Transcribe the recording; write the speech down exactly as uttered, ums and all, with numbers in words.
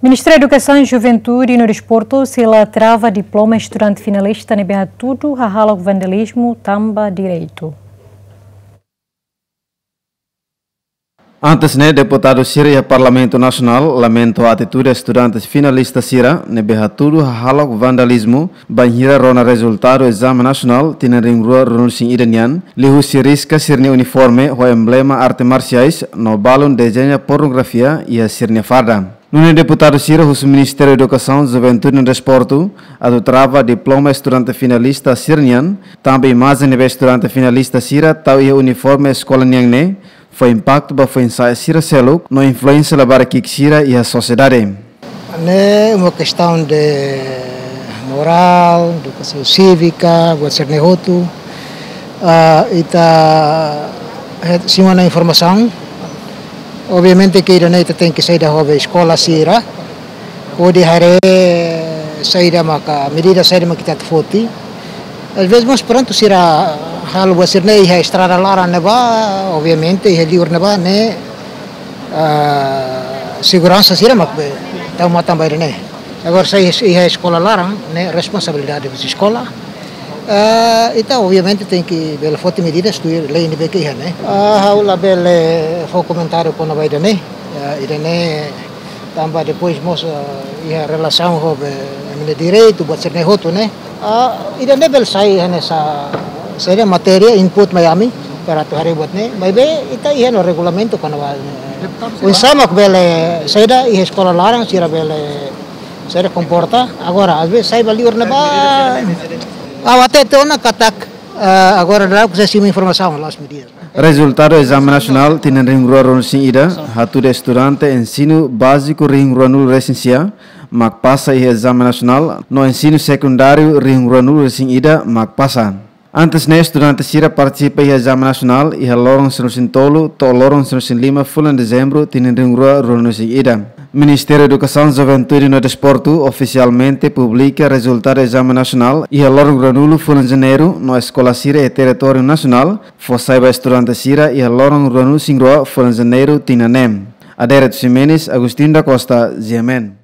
Ministériu Edukasaun, Juventude no Desportu sei la trava diploma estudante finalista ne'ebé hatudu hahalok vandalizmu tanba direitu. Antes ne'e, deputadu sira iha Parlamentu Nasionál lamenta atitude estudante finalista sira ne'ebé hatudu hahalok vandalizmu bainhira rona rezultadu ezame nasionál tinan rihun rua ruanulu-resin-ida nian, liuhusi riska sira-nia uniforme ho emblema arte marsiais no balun dezeña pornografia iha sira-nia farda. Nune'e deputadu sira husu Ministériu Edukasaun, Juventude no Desportu atu trava diploma estudante finalista sira-nian, tanba imajen ne'ebé estudante finalista sira tau iha uniforme eskola nian ne'e fó impaktu ba foin-sa'e sira seluk no influénsia labarik ki'ik sira iha sosiedade. Ne'e uma kestaun de morál, edukasaun sívika, buat sira-ne'e hotu. Ah, ita, eh, simu ona informasaun. Obviamente ke ida-ne'e ita tenke saida ho be eskola sira. Hodi haree saida maka, medida saida maka ita atu foti. Às vezes mós prontu sira halo buat sira-ne'e iha estrada laran ne'ebá, obviamente iha liur ne'ebá ne'e, ah, seguransa sira mak be tau matan ba ida-ne'e. Agora se iha eskola laran ne'e responsabilidade husi eskola. Ah, ita obviamente tenke bele foti medidas tuir lei ne'ebé ke iha ne'e. Ah, ha'u labele fó komentáriu kona-ba ida-ne'e. Ah, ida-ne'e tanba depois mós, ah, iha relasaun ho be ami-nia direitu, buat sira-ne'e hotu ne'e. Ah, ida-ne'e bele sai hanesan, saida, matéria input mai ami, para atu haree buat ne'e. Maibé ita iha ona regulamentu kona-ba ne'e. Oinsá mak bele saida iha eskola laran, sira bele saida komporta. Agora, às vezes sai ba liur ne'ebá. Ah, até tona katak, ah, agora daudaun sei simu informasaun, last media. Rezultadu ezame nasionál tinan rihun rua ruanulu-resin-ida hatudu estudante ensinu báziku rihun ruanulu-resin-sia mak pasa iha ezame nasionál, no ensinu sekundáriu rihun ruanulu-resin-ida mak pasa. Antes ne'e estudante sira partisipa iha ezame nasionál iha loron sanulu-resin-tolu to'o loron sanulu-resin-lima fulan Dezembru tinan rihun rua ruanulu-resin-ida. Ministériu Edukasaun, Juventude no Desportu ofisialmente publika rezultadu ezame nasionál iha loron ruanulu fulan Janeiru no eskola sira iha territóriu nasionál fó sai ba estudante sira iha loron ruanulu-resin-rua fulan Janeiru tinan ne'e. Adérito Ximenes, Agostinho da Costa, G M N.